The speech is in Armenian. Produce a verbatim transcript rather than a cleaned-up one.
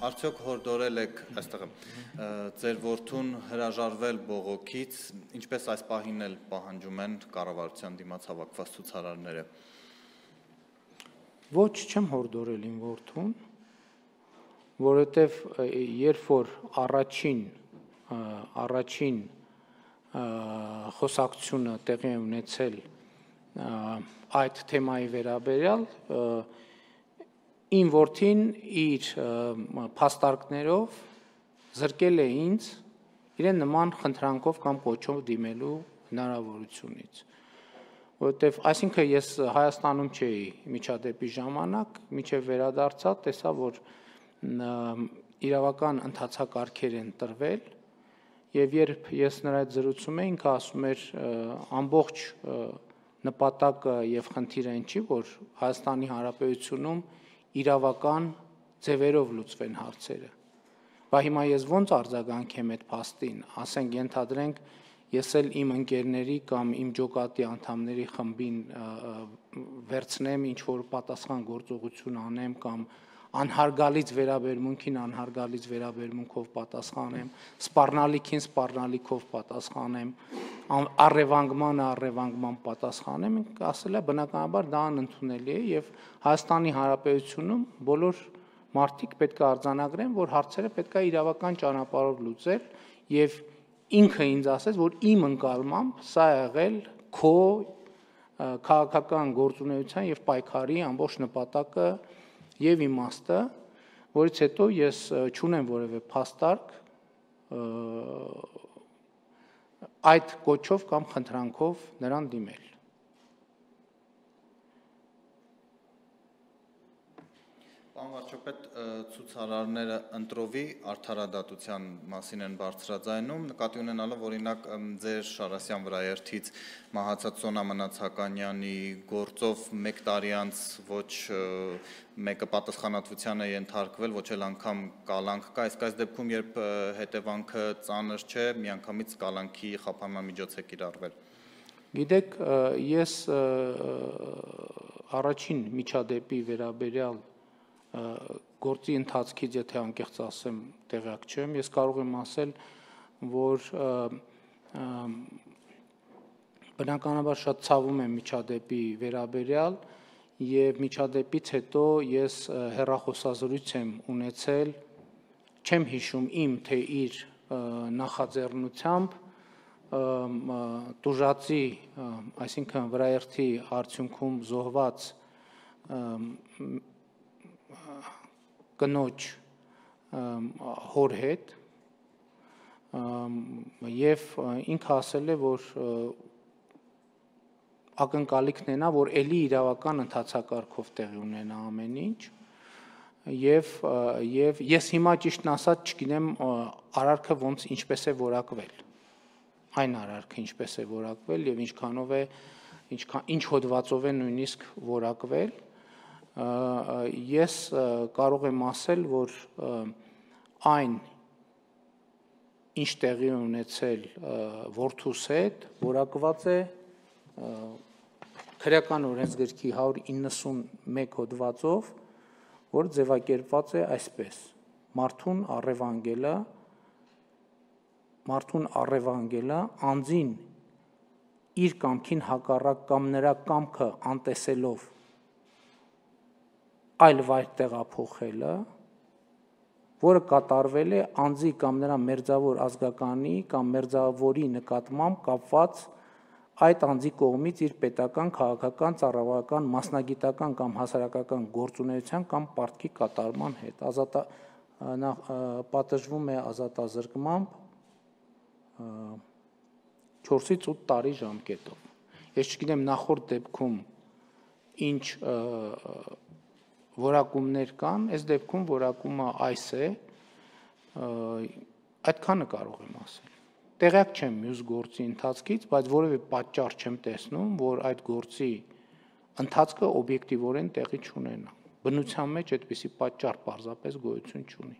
Արդյոք հորդորել եք այստեղ ձեր որդուն հրաժարվել բողոքից, ինչպես այս պահին էլ պահանջում են կառավարության դիմաց հավաքված ցուցարարները։ Ոչ, չեմ հորդորել իմ որդուն, որովհետև երբ որ առաջին առաջին խոսակցությունը տեղի է ունեցել այդ թեմայի վերաբերյալ, իմ որդին իր փաստարկներով զրկել է ինձ իրեն նման խնդրանքով կամ կոչով դիմելու հնարավորությունից, որովհետև այսինքն ես Հայաստանում չէի միջադեպի ժամանակ, մինչև վերադարձա, տեսա, որ իրավական ընթացակարգեր են տրվել, եւ երբ ես նրա հետ զրուցում էի, ինքը ասում էր ամբողջ նպատակը եւ խնդիրը այն չի, որ Հայաստանի Հանրապետությունում իրավական ձևերով լուծվեն հարցերը։ Բա հիմա ես ոնց արձագանքեմ այդ փաստին, ասենք ենթադրենք ես էլ իմ ընկերների կամ իմ ջոկատի անդամների խմբին վերցնեմ ինչ որ պատասխան գործողություն անեմ կամ անհարգալից վերաբերմունքին անհարգալից վերաբերմունքով պատասխանեմ, սպառնալիքին սպառնալիքով պատասխանեմ, առևանգմանը առևանգման պատասխանեմ, ասել է բնականաբար դա անընդունելի է եւ Հայաստանի Հանրապետությունում բոլոր մարդիկ պետք է արձանագրեն, որ հարցերը պետք է իրավական ճանապարհով լուծել եւ ինքը ինձ ասեց, որ իմ ընկալմամբ սա է եղել քո քաղաքական գործունեության եւ պայքարի ամբողջ նպատակը եւ իմաստը, որից հետո ես չունեմ որևէ փաստարկ այդ կոչով կամ խնդրանքով նրան դիմել։ Պարոն վարչապետ, ցուցարարները ընտրովի արդարադատության մասին են բարձրաձայնում, նկատի ունենալով օրինակ ձեր Շարասյան վրաերթից մահացած Սոնա Մնացականյանի գործով մեկ տարի անց ոչ մեկը պատասխանատվության է ենթարկվել, ոչ էլ անգամ կալանք կա, իսկ այս դեպքում երբ հետևանքը ծանր չէ, միանգամից կալանքի խափանման միջոց է կիրառվել։ Գիտեք, ես առաջին միջադեպի վերաբերյալ գործի ընթացքից, եթե անկեղծ ասեմ, տեղյակ չեմ, ես կարող եմ ասել, որ բնականաբար շատ ցավում եմ միջադեպի վերաբերյալ եւ միջադեպից հետո ես հեռախոսազրույց եմ ունեցել, չեմ հիշում իմ թե իր նախաձեռնությամբ տուժածի, այսինքն վրաերթի արդյունքում զոհված կնոջ հոր հետ եւ ինքը ասել է, որ ակնկալիքն է նա, որ ելի իրավական ընթացակարգով տեղի ունենա ամեն ինչ եւ եւ ես հիմա ճիշտն ասած չգիտեմ արարքը ոնց ինչպես է որակվել, այն արարքը ինչպես է որակվել եւ ինչքանով է ինչքան ինչ հոդվածով է նույնիսկ որակվել, ես կարող եմ ասել, որ այն ինչ տեղի ունեցել որդուս հետ որակված է քրեական օրենսգրքի հարյուր իննսունմեկ հոդվածով, որ ձևակերպված է այսպես. մարդուն առևանգելը մարդուն առևանգելը անձին իր կամքին հակառակ կամ նրա կամքը անտեսելով այլ վայր տեղափոխելը, որը կատարվել է անձի կամ նրա մերձավոր ազգականի կամ մերձավորի նկատմամբ կապված այդ անձի կողմից իր պետական, քաղաքական, ծառայական, մասնագիտական կամ հասարակական գործունեության կամ պարտքի կատարման հետ, պատժվում է ազատազրկմամբ չորսից ութ տարի ժամկետով։ Ես չգիտեմ նախորդ դեպքում ինչ որակումներ կան, այս դեպքում որակումը այս է, այդքանը կարող եմ ասել։ Տեղյակ չեմ մյուս գործի ընթացքից, բայց որևէ պատճառ չեմ տեսնում, որ այդ գործի ընթացքը օբյեկտիվորեն տեղի չունենա։ Բնության մեջ այդպիսի պատճառ պարզապես գոյություն չունի։